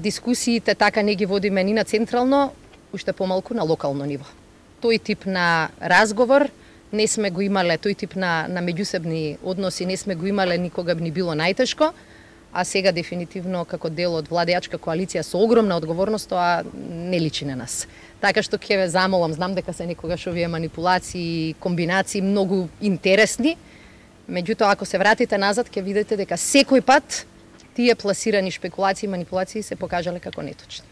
Дискусиите така не ги водиме ни на централно, уште помалку на локално ниво. Тој тип на разговор не сме го имале, тој тип на меѓусебни односи не сме го имале, никога би ни било најтешко, а сега дефинитивно како дел од владеачка коалиција со огромна одговорност, тоа не личи на нас. Така што ќе ве замолам, знам дека се некогаш овие манипулации, комбинации многу интересни, меѓутоа ако се вратите назад ќе видите дека секој пат тие пласирани шпекулации и манипулации се покажале како неточни.